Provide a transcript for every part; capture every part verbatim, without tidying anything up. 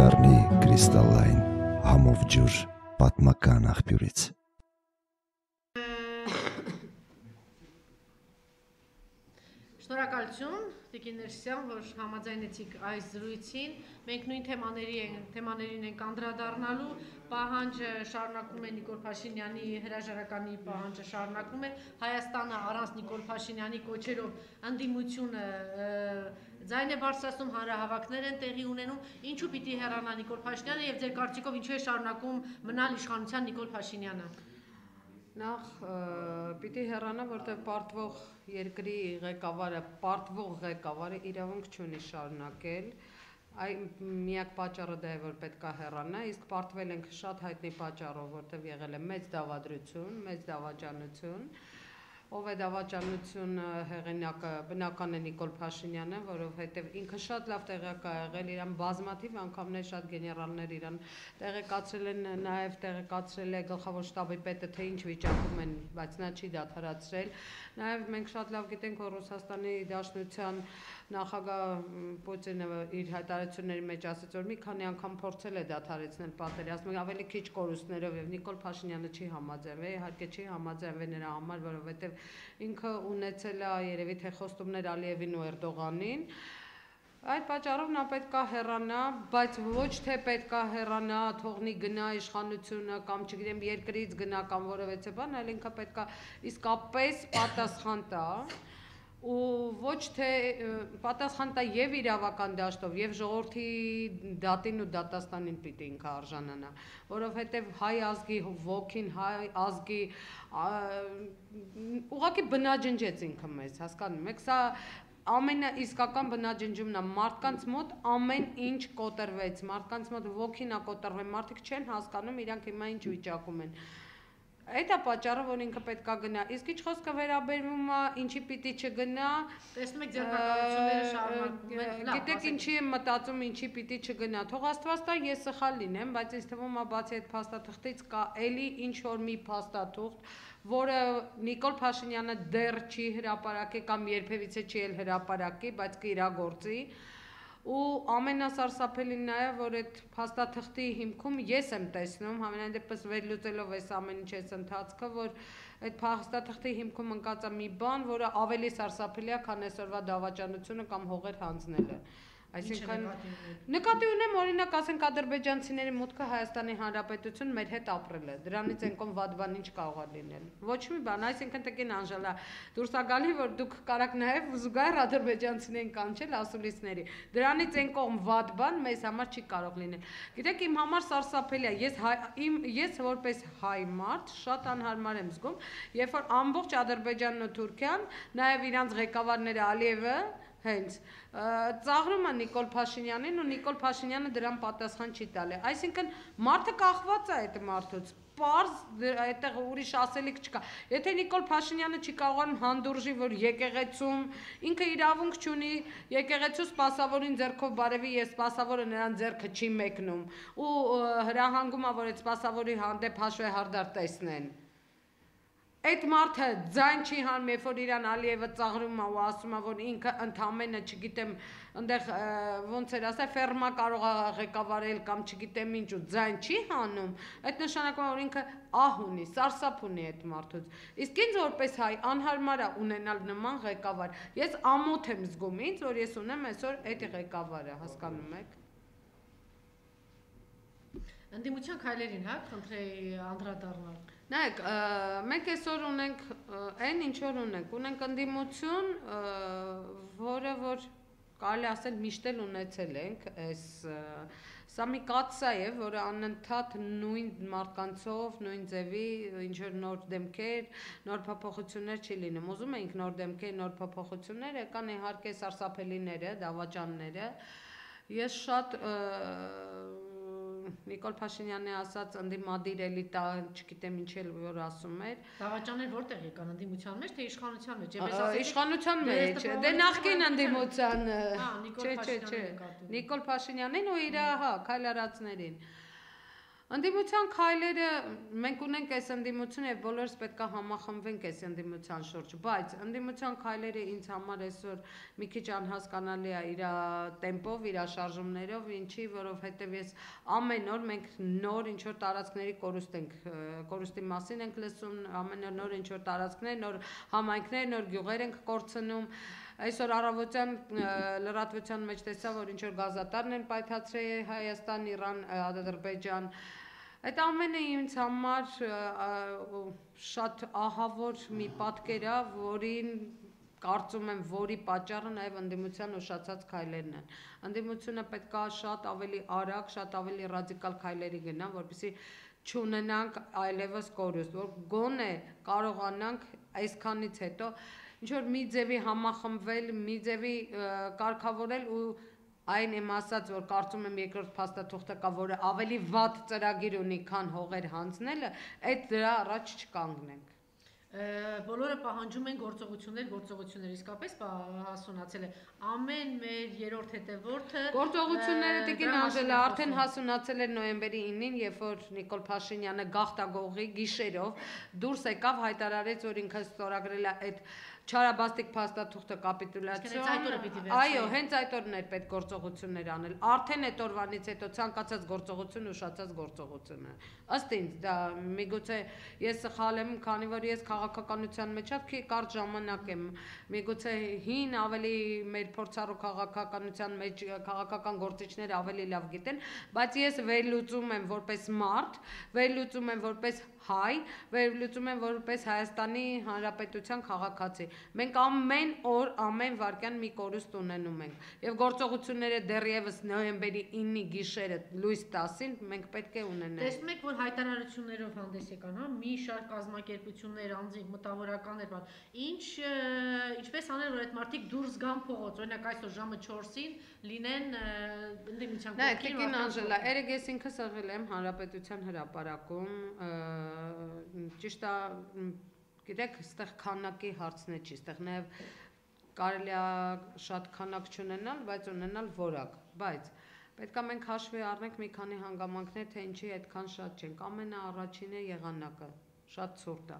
կդառնի կրիստալային համով ջուր պատմական աղբյուրից։ Շնորհակալություն Տիկին Ներսյան, որ համաձայնեցիք այս զրույցին։ Մենք նույն թեմաներին ենք անդրադառնալու, պահանջը շարունակում է Նիկոլ Փաշինյանի հրաժարականի պահանջը շարունակում է, Հայաստանը առանց Նիկոլ Փաշինյանի կոչերով ընդդիմությունը ձայն է բարձրացնում, հանրահավաքներ են տեղի ունենում, ինչու պիտի հեռանա Նիկոլ Փաշինյանը եւ ձեր կարծիքով ինչու է շարունակում մնալ իշխանության Նիկոլ Փաշինյանը։ Նախ պիտի հեռանա, որտեղ պարտվող երկրի ղեկավարը, պարտվող ղեկավարը իրավունք չունի շարունակել, այ միակ պատճառը դա է, որ պետք է հեռանա, իսկ պարտվել ենք շատ հայտնի պատճառով, որտեղ եղել է մեծ դավադրություն, մեծ դավաճանություն, ով է դավաճանություն հեղինակը բնական է Նիկոլ Փաշինյանը, որովհետև ինքը շատ լավ տեղյակ է եղել, իրան բազմաթիվ անգամներ շատ գեներալներ իրան տեղեկացրել են, նաև տեղեկացրել է գլխավոր շտաբի պետը, թե ինչ վիճակում են, բայց նա չի դադարեցրել, նաև մենք շատ լավ գիտենք, որ Ռուսաստանի Դաշնության նախագահ Պուտինը իր հայտարարությունների մեջ ասաց, որ մի քանի անգամ փորձել է դադարեցնել պատերազմը, ավելի քիչ կորուստներով եւ Նիկոլ Փաշինյանը չի համաձայնվել, իհարկե չի համաձայնվել նրա համար, որովհետեւ ինքը ունեցել է երևի թե խոստումներ Ալիևին ու Էրդողանին, այդ պատճառով նա պետք է հեռանա, բայց ոչ թե պետք է հեռանա, թողնի գնա իշխանությունը կամ չգիտեմ երկրից գնա կամ որևէ բան, այլ ինքը պետք է իսկապես պատասխան տա ու ոչ թե պատասխան տա եւ իրավական դաշտով եւ ժողովրդի դատին ու դատաստանին պիտի ինքը արժանանա, որովհետեւ հայ ազգի ոգին, հայ ազգի ուղղակի բնաջնջեց ինքը մեզ, հասկանում եք, սա ամենաիսկական բնաջնջումն է, մարդկանց մոտ ամեն ինչ կոտրվեց, մարդկանց մոտ ոգին է կոտրվել, մարդիկ չեն հասկանում իրանք հիմա ինչ վիճակում են։ Այդ է պատճառը, որ ինքը պետք է գնա, իսկ ինչ խոսքը վերաբերվում է, ինչի պիտի չգնա, տեսնում եք ձեռնարկությունները շարունակվում են, գիտեք ինչի եմ մտածում, ինչի պիտի չգնա, թող Աստված տա ես սխալ լինեմ, բայց ինձ թվում է բացի այդ փաստաթղթից կա էլի ինչ որ մի փաստաթուղթ, որը Նիկոլ Փաշինյանը դեռ չի հրապարակի կամ երբևիցե չի էլ հրապարակի, բայց կիրագործի ու ամենասարսափելին նա է, որ այդ փաստաթղթի հիմքում ես եմ տեսնում, համենայն դեպս վերլուծելով այս ամեն ինչ այս ընթացքը, որ այդ փաստաթղթի հիմքում ընկած է մի բան, որը ավելի սարսափելի է, քան այսօրվա դավաճանությունը կամ հողեր հանձնելը։ Այսինքն նկատի ունեմ օրինակ ասենք ադրբեջանցիների մուտքը Հայաստանի Հանրապետություն մեր հետ ապրել է, դրանից են կողմ վատ բան ինչ կարող է լինել։ Ոչ մի բան, այսինքն տկին Անժելա, դուրս է գալի, որ դուք կարաք նաև զուգահեռ ադրբեջանցիներին կանչել ասուլիսների։ Դրանից են կողմ վատ բան մեզ համար չի կարող լինել։ Գիտեք, իմ համար սարսափելի է, ես իմ ես որպես հայ մարդ շատ անհարմար եմ զգում, երբ որ ամբողջ Ադրբեջանն ու Թուրքիան, նաև իրանց ղեկավարները Ալիևը հենց ծաղրում է Նիկոլ Փաշինյանին ու Նիկոլ Փաշինյանը դրան պատասխան չի տալի, այսինքն մարդը կախված է այդ մարդուց, պարզ այդտեղ ուրիշ ասելիք չկա, եթե Նիկոլ Փաշինյանը չի կարողանում հանդուրժի, որ եկեղեցում ինքը իրավունք չունի, եկեղեցու սպասավորին ձեռքով բարևի, ես սպասավորը նրան ձեռքը չի մեկնում ու հրահանգում է, որ այդ սպասավորի հանդեպ հաշվեհարդար տեսնեն։ Այդ մարդը ձայն չի հանում, երբ որ իրան Ալիևը ծաղրում է ու ասում է, որ ինքը ընդամենը, չգիտեմ, այնտեղ ոնց էր ասա, ֆերմա կարող է ղեկավարել կամ չգիտեմ ինչ ու ձայն չի հանում, այդ նշանակում է, որ ինքը ահ ունի, սարսափ ունի այդ մարդուց։ Իսկ ինձ որպես հայ անհարմար է ունենալ նման ղեկավար։ Ես ամոթ եմ զգում ինձ, որ ես ունեմ այսօր այդ ղեկավարը, հասկանում եք։ Ընդդիմության քայլերին, հա, խնդրեի անդրադառնալ։ Նայեք, մենք այսօր ունենք այն ինչ որ ունենք, ունենք ընդդիմություն, որը որ կարելի ասել միշտ էլ ունեցել ենք, այս սա մի կաթսա է, որը անընդհատ նույն մարդկանցով, նույն ձևի, ինչ որ նոր դեմքեր, նոր փոփոխություններ չի լինում։ Ուզում ենք նոր դեմքեր, նոր փոփոխություններ, եկան իհարկե սարսափելիները, դավաճանները։ Ես շատ Նիկոլ Փաշինյանի ասած ընդդիմադիր էլիտա, չգիտեմ ինչ էլ որ ասում էր։ Դավաճաններ որտեղ եկան, ընդդիմության մեջ թե իշխանության մեջ։ Իշխանության մեջ, դե նախկին ընդդիմության, չէ, չէ, չէ, Նիկոլ Փաշինյանին ու իր, հա, քայլարածներին։ Ընդդիմության քայլերը մենք ունենք այս ընդդիմությունը եւ բոլորս պետք է համախմբվենք այս ընդդիմության շուրջ, բայց ընդդիմության քայլերը ինձ համար այսօր մի քիչ անհասկանալի է իր տեմպով, իր շարժումներով, ինչի, որովհետեւ ես ամեն օր մենք նոր ինչ որ տարածքների կորուստ ենք, կորուստի մասին ենք լսում, ամեն օր նոր ինչ որ տարածքներ, նոր համայնքներ, նոր գյուղեր ենք կորցնում։ Այսօր առավոտյան լրատվության մեջ տեսա, որ ինչ որ գազատարն են պայթացրել Հայաստան, Իրան, Ադրբեջան։ Այդ ամենը ինձ համար շատ ահավոր մի պատկեր է, որին կարծում եմ, որի պատճառը նաև ընդդիմության ուշացած քայլերն են։ Ընդդիմությունը պետք է շատ ավելի արագ, շատ ավելի ռադիկալ քայլերի գնա, որպեսզի չունենանք այլևս կորուստ, որ գոնե կարողանանք այսքանից հետո ինչ որ մի ձևի համախմբվել, մի ձևի կարգավորել ու այն եմ ասած, որ կարծում եմ երկրորդ փաստաթուղթը կա, որը ավելի վատ ծրագիր ունի, քան հողեր հանձնելը, այդ դրա առաջ չկանգնենք։ Բոլորը պահանջում են գործողություններ, գործողություններ իսկապես հասունացել է ամեն մեր երրորդ հետևորդը գործողությունները Տիկին Անժելա արդեն հասունացել էր նոյեմբերի ինին, երբ որ Նիկոլ Փաշինյանը գաղթագողի գիշերով դուրս եկավ, հայտարարեց, որ ինքը ստորագրել է այդ չարաբաստիկ փաստաթուղթը կապիտուլյացիոն։ Այո, հենց այդ օրն էր պետք գործողություններ անել։ Արդեն այդ օրվանից հետո ցանկացած գործողություն ուշացած գործողություն է։ Ըստ ինձ դա միգուցե ես սխալ եմ, քանի որ ես քաղաքականության մեջ շատ կարճ ժամանակ եմ, միգուցե հին ավելի մեր փորձառու քաղաքականության մեջ քաղաքական գործիչները ավելի լավ գիտեն, բայց ես վերլուծում եմ որպես մարդ, վերլուծում եմ որպես հայ, վերլուծում եմ որպես Հայաստանի Հանրապետության քաղաքացի։ Մենք ամեն օր, ամեն վայրկյան մի կորուստ ունենում ենք։ Եվ գործողությունները դեռևս նոյեմբերի ինի գիշերը լույս տասին մենք պետք է ունենանք։ Տեսնում եք, որ հայտարարություններով հանդես եկան, հա, մի շարք կազմակերպություններ, անձինք, մտավորականներ, ինչ ինչպես անել, որ այդ մարդիկ դուրս գան փողոց, օրինակ այսօր ժամը չորսին լինեն ընդդիմության կողքին։ Տիկին Անժելա, երեք ես ինքս եղել եմ Հանրապետության հրապարակում, ճիշտ է, գիտեք, այստեղ քանակի հարցն է չի, այստեղ նաև կարելի է շատ քանակ չունենալ, բայց ունենալ որակ, բայց պետք է մենք հաշվի առնենք մի քանի հանգամանքներ, թե ինչի այդքան շատ չենք։ Ամենաառաջինը եղանակը, շատ ցուրտ է։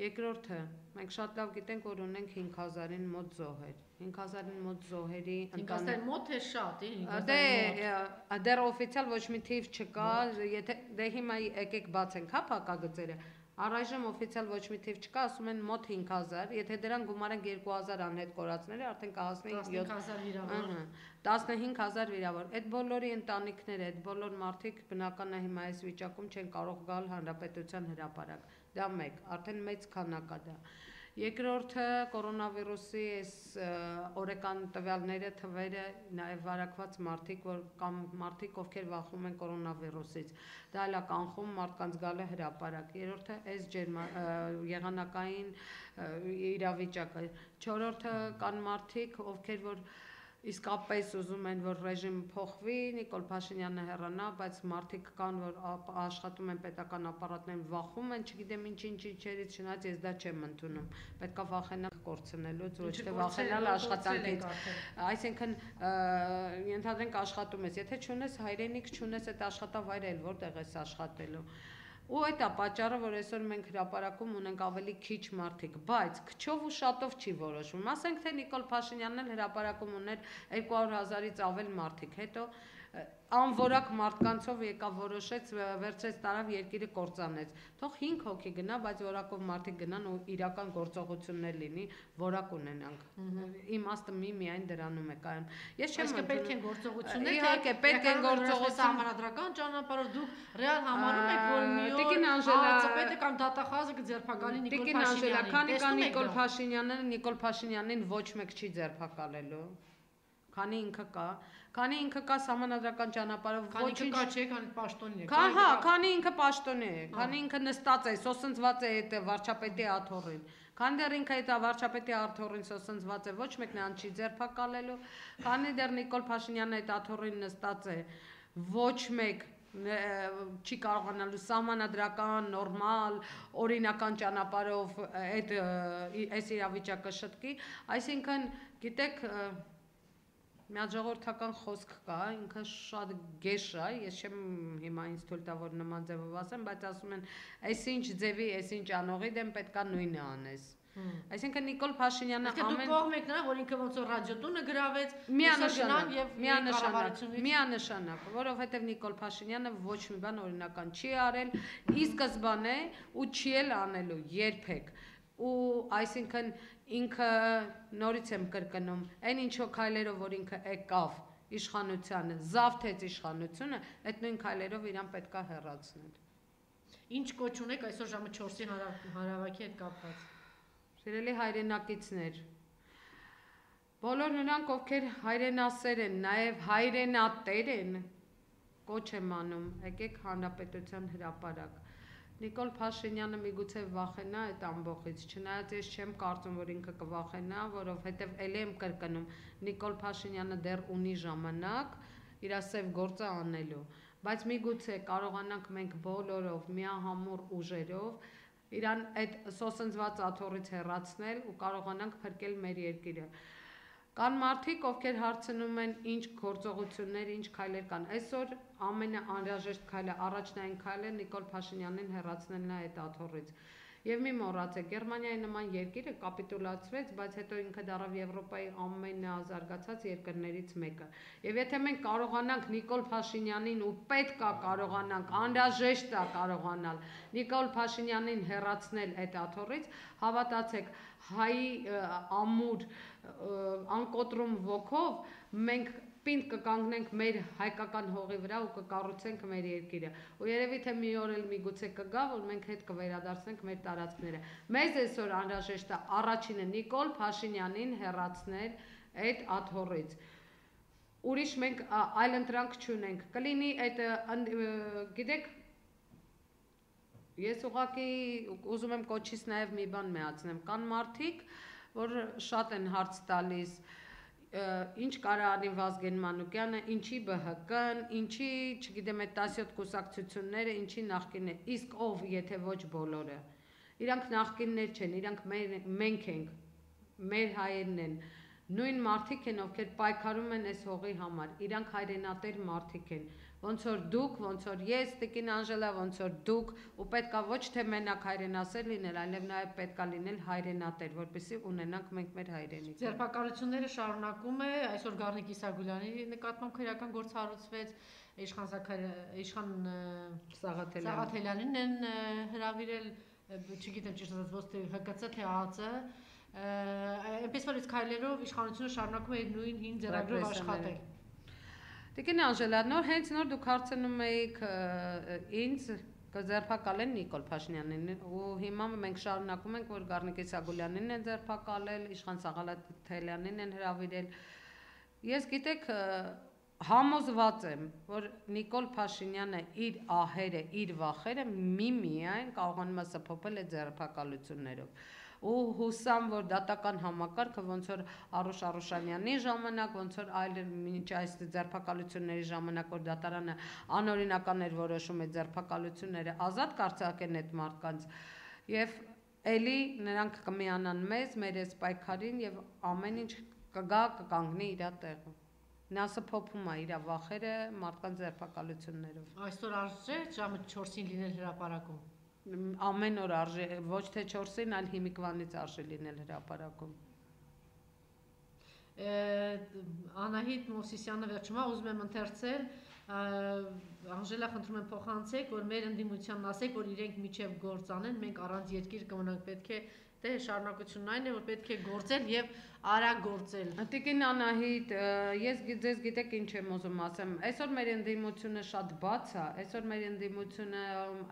Երկրորդը, մենք շատ լավ գիտենք, որ ունենք հինգ հազարին մոտ զոհեր։ հինգ հազարին մոտ զոհերի հինգ հազարի մոտ է շատ, դե դեռ օֆիցիալ ոչ մի թիվ չկա, եթե դե հիմա եկեք բացենք հա փակագծերը։ Առայժմ օֆիցիալ ոչ մի թիվ չկա, ասում են մոտ հինգ հազար, եթե դրան գումարենք երկու հազար անհետ կորածները, արդեն կհասնի տասնհինգ հազար վիրավոր։ տասնհինգ հազար վիրավոր։ Այդ բոլորի ընտանիքները, այդ բոլոր մարդիկ բնական է հիմա այս վիճակում չեն կարող գալ Հանրապետության հրապարակ։ Դա մեկ, արդեն մեծ քանակ է դա։ Երկրորդը կորոնավիրուսի այս օրեկան տվյալները, թվերը, նաև վարակված մարդիկ, որ կամ մարդիկ, ովքեր վախում են կորոնավիրուսից, դա էլ է կանխում մարդկանց գալը հրապարակ։ Երրորդը այս եղանակային իրավիճակը։ Չորրորդը կան մարդիկ, ովքեր որ իսկապես ուզում են, որ ռեժիմ փոխվի, Նիկոլ Փաշինյանը հեռանա, բայց մարդիկ կան, որ աշխատում են պետական ապարատներում, վախում են, չգիտեմ ինչ-ինչ ինչերից, չնայած ես դա չեմ ընդունում։ Պետք է վախենալ կորցնելուց, ոչ թե վախենալ աշխատանքից։ Այսինքն ենթադրենք աշխատում ես, եթե չունես հայրենիք, չունես այդ աշխատավայրը, էլ որտեղ ես աշխատելու։ Ու այդ է պատճառը, որ այսօր մենք հրապարակում ունենք ավելի քիչ մարդիկ, բայց քչով ու շատով չի որոշվում։ Ասենք թե Նիկոլ Փաշինյանն էլ հրապարակում ուներ երկու հարյուր հազարից ավել մարդիկ, հետո անորակ մարդկանցով եկավ որոշեց, վերցրեց տարավ երկիրը կործանեց։ Թող հինգ հոգի գնա, բայց որակով մարդիկ գնան ու իրական գործողություններ լինի, որակ ունենանք։ Իմաստը մի միայն դրանում է կայանում։ Ես չեմ ասում պետք են գործողություններ, իհարկե պետք են գործողություն համանդրական ճանապարհով դուք ռեալ համարում եք, որ մի օր Տիկին Անժելա ԱԾՊ-ը կամ դատախազը կձերբակալի Նիկոլ Տիկին Անժելա, քանի կա Փաշինյանին։ Նիկոլ Փաշինյանը, Նիկոլ Փաշինյանին ոչ մեկ չի ձերբակալելու։ Քանի ինքը կա, քանի ինքը կա համանդրական ճանապարհով ոչինչ կա, չէ, քանի պաշտոնի է։ Քա, հա, քանի ինքը պաշտոնի է, քանի ինքը նստած է, սոսնձված է այդ վարչապետի աթոռին։ Քանի դեռ ինքը այդ վարչապետի աթոռին սոսնձված է, ոչ մեկն ան չի ձերբակալելու։ Քանի դեռ Նիկոլ Փաշինյանը այդ աթոռին նստած է, ոչ մեկ չի կարողանալու սահմանադրական, նորմալ, օրինական ճանապարհով այդ այս իրավիճակը շտկի, այսինքն գիտեք Միաժողովրդական խոսք կա, ինքը շատ գեշ է, ես չեմ հիմա ինձ թույլ տա որ նման ձևով ասեմ, բայց ասում են, այսինչ ձևի, այսինչ անողի դեմ պետքա նույնը անես։ Այսինքն Նիկոլ Փաշինյանը ամեն կողմ եք նրա, որ ինքը ոնց որ ռադիոտունը գրավեց, միանշանակ եւ միանշանակ, որովհետեւ Նիկոլ Փաշինյանը ոչ մի բան օրինական չի արել, ի սկզբանե ու չի էլ անելու երբեք։ Ու այսինքն ինքը նորից եմ կրկնում, այն ինչո քայլերով որ ինքը եկավ իշխանությանը, զավթեց իշխանությունը, այդ նույն քայլերով իրան պետքա հեռացնել։ Ինչ կոչ ունեք այսօր ժամը չորսի հարավակի հետ կապված։ Սիրելի հայրենակիցներ, բոլոր նրանք, ովքեր հայրենասեր են, նաև հայրենատեր են, կոչ եմ անում, եկեք Հանրապետության հրապարակ։ Նիկոլ Փաշինյանը միգուցե վախենա այդ ամբողից, չնայած ես չեմ կարծում, որ ինքը կվախենա, որովհետև ելի եմ կրկնում, Նիկոլ Փաշինյանը դեռ ունի ժամանակ իր սև գործը անելու, բայց միգուցե կարողանանք մենք բոլորով, միահամուռ ուժերով իրան այդ սոսնձված աթոռից հեռացնել ու կարողանանք փրկել մեր երկիրը։ Կան մարդիկ, ովքեր հարցնում են ինչ գործողություններ, ինչ քայլեր կան։ Այսօր ամենաանհրաժեշտ քայլը, առաջնային քայլը Նիկոլ Փաշինյանին հեռացնելն է այդ աթոռից։ Եվ մի մոռացեք, Գերմանիայի նման երկիրը կապիտուլացվեց, բայց հետո ինքը դառավ Եվրոպայի ամենազարգացած երկրներից մեկը։ Եվ եթե մենք կարողանանք Նիկոլ Փաշինյանին ու պետք է կարողանանք, անհրաժեշտ է կարողանալ Նիկոլ Փաշինյանին հեռացնել այդ աթոռից, հավատացեք, հայի ամուր անկոտրում ոգով մենք պինդ կկանգնենք մեր հայկական հողի վրա ու կկառուցենք մեր երկիրը։ Ու երևի թե մի օր էլ միգուցե կգա, որ մենք հետ կվերադարձնենք մեր տարածքները։ Մեզ այսօր անհրաժեշտ է առաջինը Նիկոլ Փաշինյանին հեռացնել այդ աթոռից։ Ուրիշ մենք այլ ընտրանք չունենք։ Կլինի այդ, գիտեք, ես ուղղակի ուզում եմ կոչից նաև մի բան միացնեմ։ Կան մարդիկ, որ շատ են հարց տալիս, ինչ կարա անի Վազգեն Մանուկյանը, ինչի Բ Հ Կ-ն, ինչի, չգիտեմ, այդ տասյոթ կուսակցությունները, ինչի նախկինը, իսկ ով, եթե ոչ բոլորը։ Իրանք նախկիններ չեն, իրանք մենք ենք, մեր հայերն են, նույն մարդիկ են, ովքեր պայքարում են այս հողի համար, իրանք հայրենատեր մարդիկ են, ոնց որ դուք, ոնց որ ես, Տիկին Անժելա, ոնց որ դուք, ու պետքա ոչ թե մենակ հայրենասեր լինել, այլև նաև պետքա լինել հայրենատեր, որպեսզի ունենանք մենք մեր հայրենիքը։ Ձերբակալությունները շարունակում է, այսօր Գառնիկ Իսագուլյանի նկատմամբ քրեական գործ հարուցվեց, Իշխան Իշխան Սաղաթելյանին են հրավիրել, չգիտեմ ճիշտ ասած, ոչ թե Հ Կ Ց, թե Ա Ծ, այնպես որ այս քայլերով իշխանությունը շարունակում է նույն հին ձեռագրով աշխատել։ Տիկին Անժելա, նոր հենց նոր դուք հարցնում եք ինձ կձերբակալեն Նիկոլ Փաշինյանին ու հիմա մենք շարունակում ենք, որ Գառնիկ Իսագուլյանին են ձերբակալել, Իշխան Սաղաթելյանին են հրավիրել։ Ես գիտեք համոզված եմ, որ Նիկոլ Փաշինյանը իր ահերը, իր վախերը միմիայն կարողանում է սփոփել այդ ձերբակալություններով։ Ու հուսամ, որ դատական համակարգը ոնց որ Արուշ Արուշանյանի ժամանակ, ոնց որ այլ մինչ այս ձերբակալությունների ժամանակ, որ դատարանը անօրինական էր որոշում այդ ձերբակալությունները ազատ կարձակեն այդ մարդկանց եւ էլի նրանք կմիանան մեզ, մեր այս պայքարին եւ ամեն ինչ կգա կկանգնի իր տեղը։ Նա սփոփում է իր վախերը մարդկանց ձերբակալություններով։ Այսօր արժե ժամը չորսին լինել հրապարակում։ Ամեն օր արժե, ոչ թե չորսին, այլ հիմիկվանից արժե լինել հրապարակում։ Անահիտ Մովսիսյանը վերջումա ուզում եմ ընթերցել, Անժելա խնդրում եմ փոխանցեք, որ մեր ընդդիմությանն ասեք, որ իրենք միջև գործ անեն, մենք առանց երկիր կմնանք, պետք է դե շարունակությունն այն է, որ պետք է գործել եւ արագ գործել։ Տիկին Անահիտ, ես ձեզ գիտեք ինչ եմ ուզում ասեմ, այսօր մեր ընդդիմությունը շատ բաց է, այսօր մեր ընդդիմությունը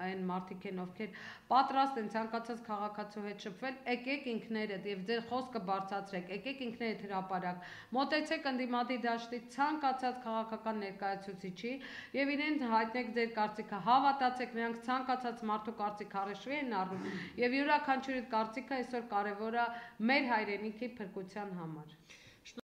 այն մարդիկ են, ովքեր պատրաստ են ցանկացած քաղաքացու հետ շփվել, եկեք ինքներդ եւ ձեր խոսքը բարձրացրեք, եկեք ինքներդ հրապարակ, մոտեցեք ընդդիմադի դաշտի ցանկացած քաղաքական ներկայացուցիչի եւ իրեն հայտնեք ձեր կարծիքը, հավատացեք, նրանք ցանկացած մարդու կարծիք հաշվի են առնում եւ յուրաքանչյուրի կարծիքը այսօր կարևոր է մեր հայրենիքի փրկության համար։